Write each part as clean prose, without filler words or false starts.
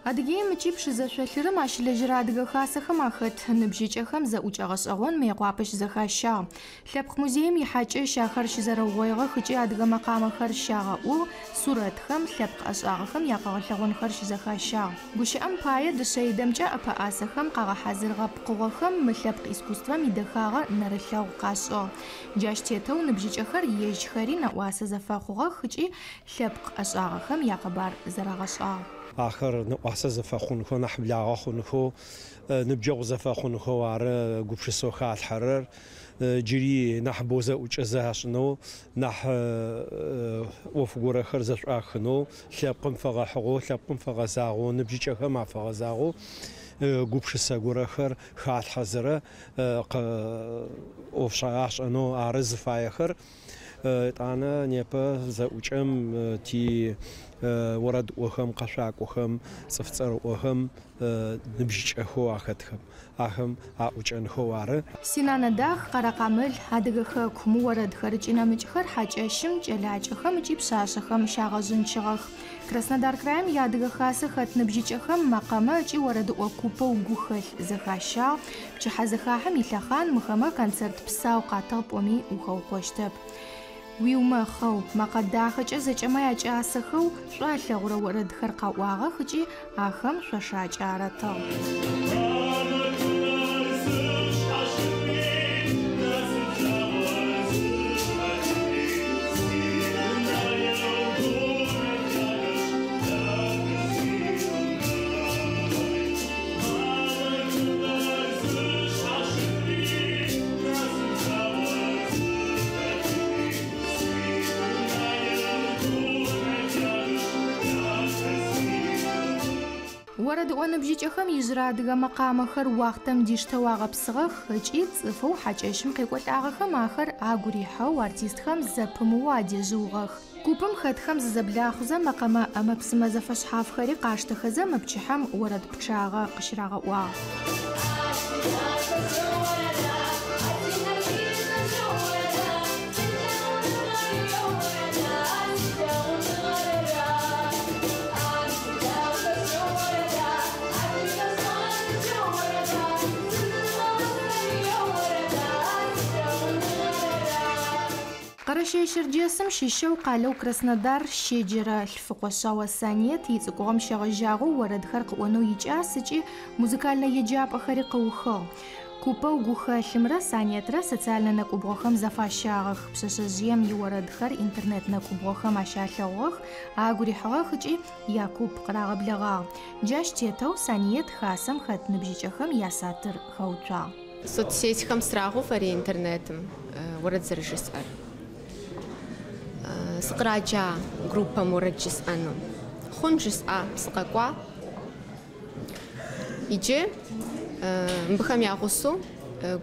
Адыгеим ыкӏи Пшызэ шъолъырым ащылэжьэрэ Адыгэ Хасэхэм ахэт ныбжьыкӏэхэм зэӏукӏэ гъэшӏэгъон Мыекъуапэ щызэхащагъ. Лъэпкъ музеим ихьакӏэщ ахэр щызэрэугъоигъэх ыкӏи адыгэ мэкъамэхэр щагъэӏугъ, сурэтхэм, лъэпкъ ӏэшӏагъэхэм якъэгъэлъэгъонхэр щызэхащагъ. Гущыӏэм пае, дышъэидэмкӏэ ӏэпэӏасэхэм къагъэхьазырыгъэ пкъыгъохэм мы лъэпкъ искусствэм идэхагъэ нэрылъэгъу къашӏыгъ. Джащ тетэу ныбжьыкӏэхэр ежьхэри нэӏуасэ зэфэхъугъэх ыкӏи лъэпкъ ӏэшӏагъэхэм якъэбар зэрагъэшӏагъ. Ахэр нэӏуасэ зэфэхъунхэу, нахь благъэ хъунхэу, ныбджэгъу зэфэхъунхэу ары гупшысэу халъхьэрэр. Джыри нахьыбэу зэӏукӏэ зашӏынэу, нахь ӏоф горэхэр зэшӏуахынэу, лъэпкъым фэгъэхьыгъэу, лъэпкъым фэгъэзагъэу, ныбжьыкӏэхэм афэгъэзагъэу гупшысэ горэхэр халъхьэзэрэ ӏоф ашӏэнэу ары зыфаехэр. Етӏанэ непэ зэӏукӏэм ти орэдыӏохэм, къэшъуакӏохэм, цӏыф цӏэрыӏохэм ныбжьыкӏэхэу ахэтхэм ахэм аӏукӏэнхэу ары. Синанэ дах, Къэрэкъамыл, Адыгэ хэку, мы орэдхэр ыкӏи нэмыкӏхэр хьакӏэщым, кӏэлакӏэхэм ыкӏи пшъашъэхэм щагъэжъынчыгъэх. Краснодар краим и Адыгэ Хасэ хэт ныбжьыкӏэхэм мэкъэмэ ыкӏи орэдыӏо купэу Гухэлъ зэхащагъ. Пчыхьэзэхахьэм илъэхъан мыхэмэ концерт псау къатыгъ пӏоми ухэукъощтэп. Уиумэхъэу, мэкъэ дахэкӏэ зэкӏэмэ якӏасэхэу шӏу алъэгъурэ орэдхэр къаӏуагъэх ыкӏи ахэм шъошакӏэ аратыгъ. Орэдыӏо ныбжьыкӏэхэм ижъырэ адыгэ мэкъамэхэр уахътэм диштэу агъэпсыгъэх ыкӏи цӏыфэу хьакӏэщым къекӏолӏагъэхэм ахэр агу рихьэу артистхэм зэпымыоу адежъыугъэх. Купым хэтхэм зызэблахъузэ мэкъэмэ ӏэмэ-псымэ зэфэшъхьафхэри къаштэхэзэ мы пчыхьэм орэд пчъагъэ къыщырагъэӏуагъ. Къэрэщэе-Щэрджэсым щыщэу къалэу Краснодар щеджэрэ Лъфыкъошъао Саниет ицӏыкӏугъэм щегъэжьагъэу орэдхэр къыӏонэу икӏас ыкӏи музыкальнэ еджапӏэхэри къыухыгъ. Купэу Гухэлъымрэ Саниетрэ социальнэ нэкӏубгъохэм зэфащагъэх. Пшъэшъэжъыем иорэдхэр интернет нэкӏубгъохэм ащалъэгъугъэх, агу рихьыгъэх ыкӏи якуп къырагъэблэгъагъ. Джащ тетэу Саниет хасэм хэт ныбжьыкӏэхэм ясатыр хэуцуагъ. Соцсетьхэм срагъэуфэри интернетым уэрэд зэрыжысӏэр. Сыкъраджа группэм уэрэд жысӏэну. Хъун жысӏа, сыкъэкӏуа. Иджы мыбыхэм я гъусэу,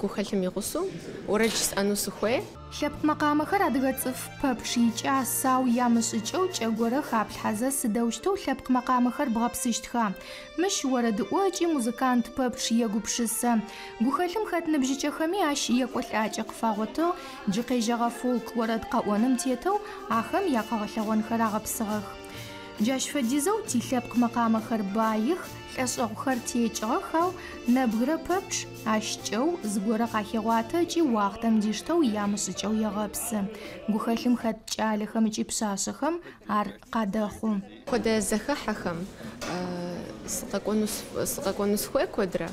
Гухэлъым и гъусэу уэрэд жысӏэну сыхуей. Лъэпкъ мэкъамэхэр адыгэ цӏыф пэпчъ икӏас, ау ямышӏыкӏэу кӏэ горэ хаплъхьэзэ сыдэущтэу лъэпкъ мэкъамэхэр бгъэпсыщтха? Мыщ орэдыӏо ыкӏи музыкант пэпчъ егупшысэ. Гухэлъым хэт ныбжьыкӏэхэми ащ екӏолӏакӏэ къыфагъотыгъ, джы къежьэгъэ фолк орэд къэӏоным тетэу ахэм якъэгъэлъэгъонхэр агъэпсыгъэх. Джащ фэдизэу тилъэпкъ мэкъамэхэр баих, лӏэшӏэгъухэр текӏыгъэх, ау нэбгырэ пэпчъ ащ кӏэу зыгорэ къахегъуатэ ыкӏи уахътэм диштэу ямышӏыкӏэу егъэпсы. Гухэлъым хэт кӏалэхэм ыкӏи пшъашъэхэм ар къадэхъу. Хуэдэ зэхыхьэхэм сыкъэкӏуэну сыхуей куэдрэ,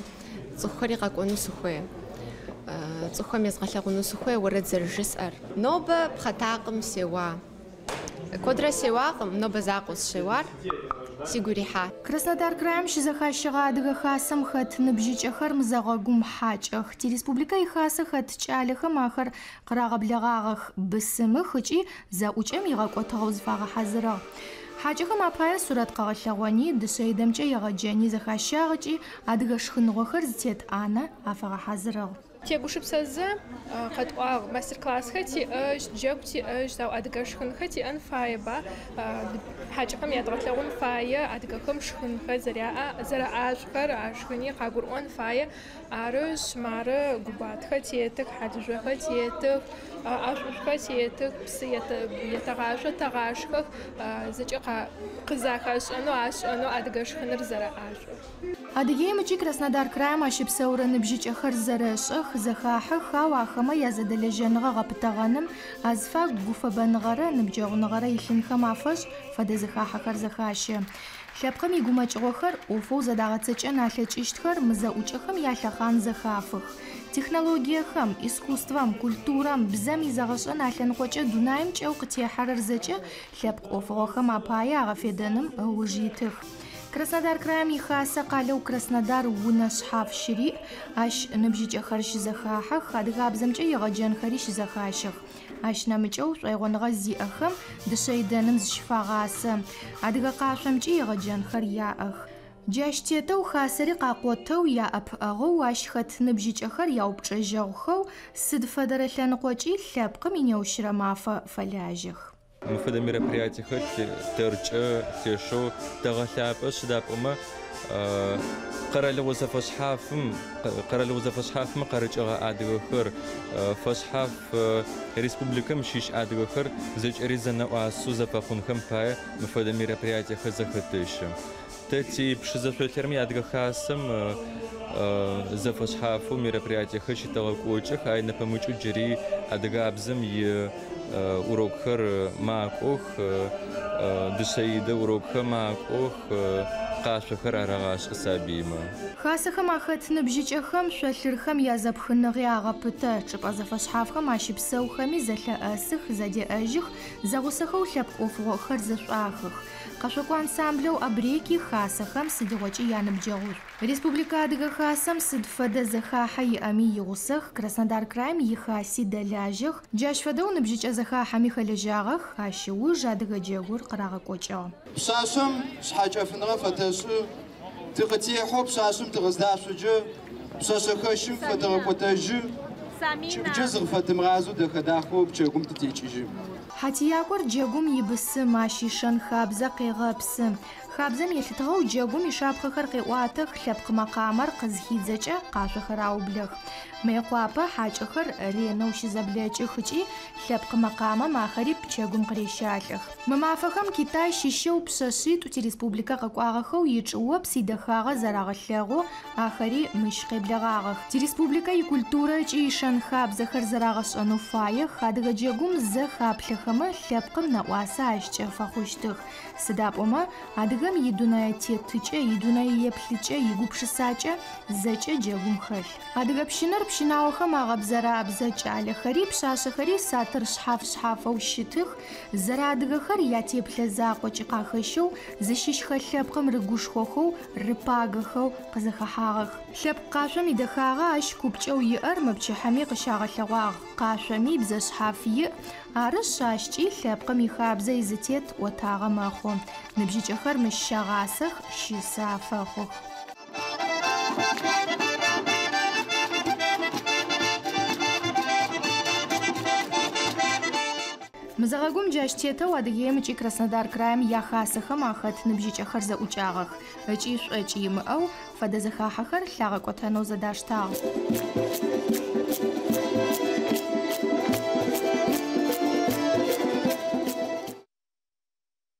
цӏыхухэри къэкӏуэну сыхуей. Цӏыхухэм езгъэлъэгъуну сыхуей уэрэд зэрыжысӏэр. Нобэ пхъэтакъым сеуа. Куэдрэ сеуакъым, нобэ закъуэ сыщеуар сигу ирихьа. Краснодар краим щызэхащэгъэ Адыгэ Хасэм хэт ныбжьыкӏэхэр мызэгъэгум хьакӏэх. Тиреспубликэ ихасэ хэт кӏалэхэм ахэр къырагъэблэгъагъэх, бысымых ыкӏи зэӏукӏэм игъэкӏотыгъэу зыфагъэхьазырыгъ. Хьакӏэхэм апае сурэт къэгъэлъэгъони, дышъэидэмкӏэ егъэджэни зэхащагъ ыкӏи адыгэ шхыныгъохэр зытет ӏанэ афагъэхьазырыгъ. Тегушыпсэзэ къэтӏуагъ мастер-классхэр тиӏэщт, джэгу тиӏэщт, ау адыгэ шхынхэр тиӏэн фаеба. Хьакӏэхэм ядгъэлъэгъун фае, адыгэхэм шхынхэр зэраӏашӏухэр, а шхыни къагурыӏон фае. Арышъ, мары губатхэр тетых, хьалыжъохэр тетых, ӏэшӏушӏухэр тетых, псы етэгъашъо, тэгъашхэх, зэкӏэ къызахашӏэнэу, ашӏэнэу адыгэ шхыныр зэраӏашӏур. Адыгеим ыкӏи Краснодар краим ащыпсэурэ ныбжьыкӏэхэр зэрэшӏэх, зэхахьэх, ау ахэмэ язэдэлэжьэныгъэ гъэпытэгъэным, азыфагу гуфэбэныгъэрэ ныбджэгъуныгъэрэ илъынхэм афэшӏ фэдэ зэхахьэхэр зэхащэ. Лъэпкъым игумэкӏыгъохэр ӏофэу зэдагъэцэкӏэн алъэкӏыщтхэр мы зэӏукӏэхэм ялъэхъан зэхафых. Технологиехэм, искусствэм, культурэм, бзэм изэгъэшӏэн алъэныкъокӏэ дунаим кӏэу къытехьэрэр зэкӏэ лъэпкъ ӏофыгъохэм апае агъэфедэным ыуж итых. Краснодар краим ихасэ къалэу Краснодар унэ шъхьаф щыриӏ, ащ ныбжьыкӏэхэр щызэхахьэх, адыгабзэмкӏэ егъэджэнхэри щызэхащэх. Ащ нэмыкӏэу шӏоигъоныгъэ зиӏэхэм дышъэидэным зыщыфагъасэ. Адыгэ къашъомкӏи егъэджэнхэр яӏэх. Джащ тетэу хасэри къакъотэу, яӏэпыӏэгъоу, ащ хэт ныбжьыкӏэхэр яупчӏэжьэгъухэу, сыд фэдэрэ лъэныкъокӏи лъэпкъым инеущырэ мафэ фэлажьэх. Мы фэдэ мероприятиехэр тэркӏэ лъэшэу тэгъэлъапӏэ сыда пӏомэ къэралыгъо зэфэшъхьафым къарыкӏыгъэ адыгэхэр, фэшъхьаф республикэм щыщ адыгэхэр зэкӏэри зэнэӏуасэу зэфэхъунхэм пае мы фэдэ мероприятиехэр зэхэтэщэ. Тэ ти Пшызэ шъолъырым и Адыгэ Хасэм зэфэшъхьафэу мероприятиехэр щытэгъэкӏокӏых, ай нэпэмыкӏэу джыри адыгабзэм и урокхэр макӏох, дышъэидэ урокхэр макӏох, къашъохэр арагъашӏэ сабыймэ. Хасэхэм ахэт ныбжьыкӏэхэм шъолъырхэм язэпхыныгъи агъэпытэ, чӏыпӏэ зэфэшъхьафхэм ащыпсэухэми зэлъэӏэсых, зэдеӏэжьых, зэгъусэхэу лъэпкъ ӏофыгъохэр зэшӏуахых. Къэшъокӏо ансамблэу Абреки хасэхэм сыдигъокӏи яныбджэгъушӏу. Республикэ Адыгэ Хасэм сыд фэдэ зэхахьэ иӏэми игъусэх, Краснодар краим ихаси дэлажьэх, джащ фэдэу ныбжьыкӏэ зэхахьэми хэлэжьагъэх, ащ ыуж адыгэ джэгур къырагъэкӏокӏыгъ. Пшъашъэм шъхьэкӏэфыныгъэ фэтэшӏы, тыкъытехьэу пшъашъэм тыкъыздашъоджэ, пшъэшъэхэщым фэтэгъэкӏотэжьы, кӏыбджэ зыкъыфэтымыгъазэу дэхэ-дахэу пчэгум тытекӏыжьы. Хьатиякӏор джэгум ибысым, ащ ишэн хабзэ къегъэпсы. Хабзэм елъытыгъэу джэгум ишапхъэхэр къеӏуатэх, лъэпкъ мэкъамэр къызхидзэкӏэ къашъохэр аублэх. Мыекъуапэ хьакӏэхэр ренэу щызэблэкӏых ыкӏи лъэпкъ мэкъамэм ахэри пчэгум къырещалӏэх. Мы мафэхэм Китай щыщэу пшъэшъитӏу тиреспубликэ къэкӏуагъэхэу ичӏыопс идэхагъэ зэрагъэлъэгъу, ахэри мыщ къеблэгъагъэх. Тиреспубликэ икультурэ ыкӏи ишэн хабзэхэр зэрагъэшӏэнэу фаех, адыгэ джэгум зэ хаплъэхэмэ лъэпкъым нэӏуасэ ащкӏэ фэхъущтых. Сыда пӏомэ, адыгэм идунэе тетыкӏэ, идунэе еплъыкӏэ, игупшысакӏэ зэкӏэ джэгум хэлъ. Адыгэ пщынэр пщынаохэм агъэбзэрабзэ кӏалэхэри пшъашъэхэри сатыр шъхьаф-шъхьафэу щытых, зэрэадыгэхэр ятеплъэ закъокӏи къахэщэу, зыщыщхэ лъэпкъым рыгушхохэу, рыпагэхэу къызэхэхьагъэх. Лъэпкъ къашъом идэхагъэ ащ купкӏэу иӏэр мы пчыхьэми къыщагъэлъэгъуагъ. Къашъоми бзэ шъхьаф иӏ, арышъ ащкӏи лъэпкъым ихабзэ изытет ӏотагъэ мэхъу. Ныбжьыкӏэхэр мыщ щагъасэх, щысэ афэхъух. Мызэгъэгум джащ тетэу Адыгеим ыкӏи Краснодар краим яхасэхэм ахэт ныбжьыкӏэхэр зэӏукӏагъэх. Ыкӏи шӏокӏ имыӏэу фэдэ зэхахьэхэр лъагъэкӏотэнэу зэдаштагъ.